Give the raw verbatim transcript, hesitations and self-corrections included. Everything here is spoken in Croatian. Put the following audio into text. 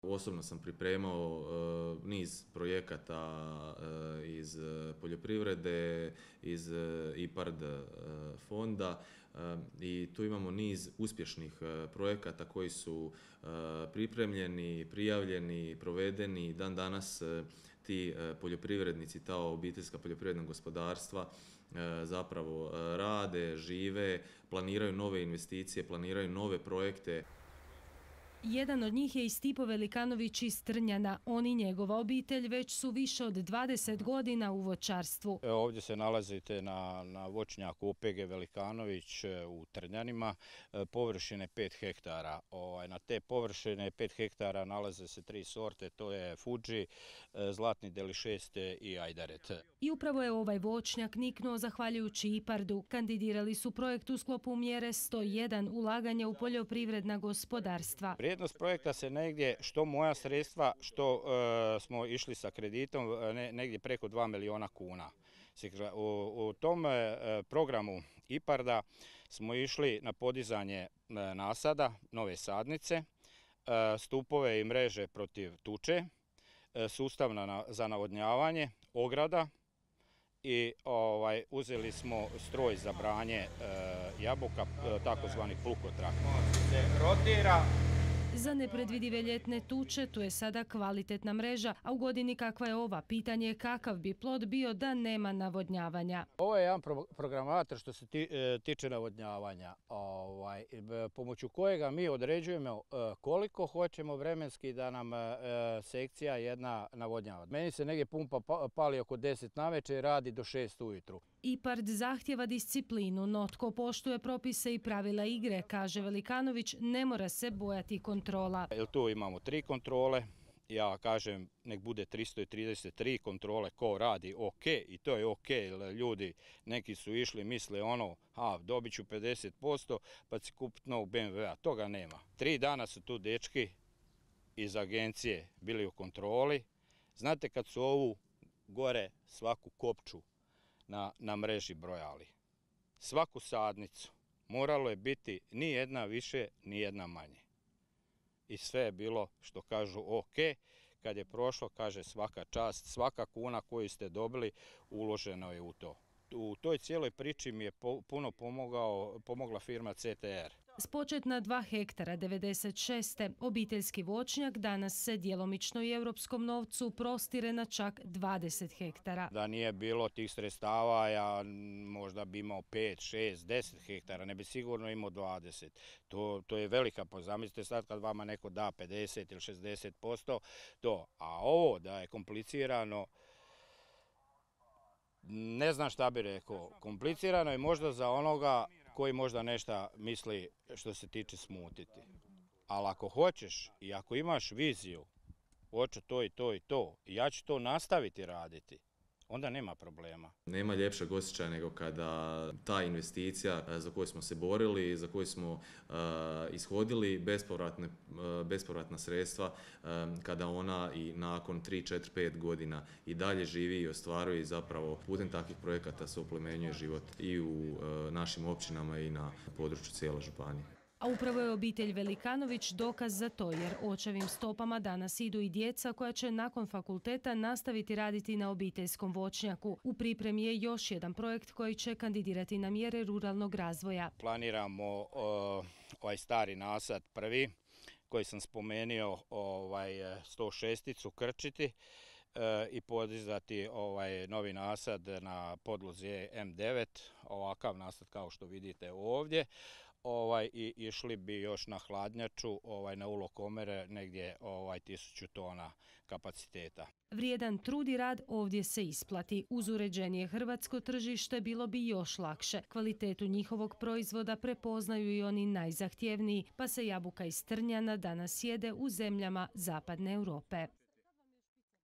Osobno sam pripremao uh, niz projekata uh, iz poljoprivrede, iz uh, IPARD uh, fonda uh, i tu imamo niz uspješnih uh, projekata koji su uh, pripremljeni, prijavljeni, provedeni. Dan danas uh, ti uh, poljoprivrednici, ta obiteljska poljoprivredna gospodarstva uh, zapravo uh, rade, žive, planiraju nove investicije, planiraju nove projekte. Jedan od njih je i Stipo Velikanović iz Trnjana. On i njegova obitelj već su više od dvadeset godina u voćarstvu. Evo, ovdje se nalazite na, na voćnjaku O P G Velikanović u Trnjanima, površine pet hektara. Ovaj, na te površine pet hektara nalaze se tri sorte, to je Fuji, Zlatni Deli šest i Ajdaret. I upravo je ovaj voćnjak niknuo zahvaljujući IPARD-u. Kandidirali su projekt u sklopu mjere sto jedan ulaganja u poljoprivredna gospodarstva. Vrijednost projekta se negdje, što moja sredstva, što e, smo išli sa kreditom, ne, negdje preko dva milijuna kuna. U, u tom e, programu IPARD-a smo išli na podizanje e, nasada, nove sadnice, e, stupove i mreže protiv tuče, e, sustav na, za navodnjavanje, ograda i ovaj, uzeli smo stroj za branje e, jabuka, e, takozvani plukotrak. Se rotira. Za nepredvidive ljetne tuče tu je sada kvalitetna mreža, a u godini kakva je ova, pitanje je kakav bi plod bio da nema navodnjavanja. Ovo je jedan pro programator što se ti, e, tiče navodnjavanja, ovaj, pomoću kojega mi određujemo e, koliko hoćemo vremenski da nam e, sekcija jedna navodnjava. Meni se negdje pumpa pali oko deset navečer i radi do šest ujutru. IPARD zahtjeva disciplinu, no tko poštuje propise i pravila igre, kaže Velikanović, ne mora se bojati kontrola. Jer tu imamo tri kontrole, ja kažem nek bude tristo trideset tri kontrole ko radi ok i to je ok, ljudi neki su išli misle ono, a dobit ću pedeset posto pa će kupiti novog B M W-a, toga nema. Tri dana su tu dečki iz agencije bili u kontroli, znate kad su ovu gore svaku kopču Na, na mreži brojali. Svaku sadnicu moralo je biti ni jedna više, ni jedna manje. I sve je bilo, što kažu, ok. Kad je prošlo, kaže svaka čast, svaka kuna koju ste dobili uloženo je u to. U toj cijeloj priči mi je puno pomogao, pomogla firma C T R. S početna dva hektara devedeset šeste obiteljski voćnjak danas se djelomično i europskom novcu prostire na čak dvadeset hektara. Da nije bilo tih sredstava, ja možda bi imao pet, šest, deset hektara, ne bi sigurno imao dvadeset. To, to je velika, pa zamislite sad kad vama neko da pedeset ili šezdeset posto, to. A ovo da je komplicirano, ne znam šta bi rekao, komplicirano je možda za onoga koji možda nešto misli što se tiče smutiti. Ali ako hoćeš i ako imaš viziju, hoću to i to i to, i ja ću to nastaviti raditi, onda nema problema. Nema ljepšeg osjećaja nego kada ta investicija za koju smo se borili, za koju smo uh, ishodili bespovratne, uh, bespovratna sredstva, um, kada ona i nakon tri, četiri, pet godina i dalje živi i ostvaruje i zapravo putem takvih projekata se oplemenjuje život i u uh, našim općinama i na području cijele županije. A upravo je obitelj Velikanović dokaz za to, jer očevim stopama danas idu i djeca koja će nakon fakulteta nastaviti raditi na obiteljskom voćnjaku. U pripremi je još jedan projekt koji će kandidirati na mjere ruralnog razvoja. Planiramo uh, ovaj stari nasad prvi, koji sam spomenuo, ovaj, sto šesticu krčiti uh, i podizati ovaj novi nasad na podlozi M devet, ovakav nasad kao što vidite ovdje. Ovaj, i išli bi još na hladnjaču, ovaj, na ulokomere, negdje ovaj, tisuću tona kapaciteta. Vrijedan trud i rad ovdje se isplati. Uz uređenije hrvatsko tržište bilo bi još lakše. Kvalitetu njihovog proizvoda prepoznaju i oni najzahtjevniji, pa se jabuka iz Trnjana danas jede u zemljama zapadne Europe.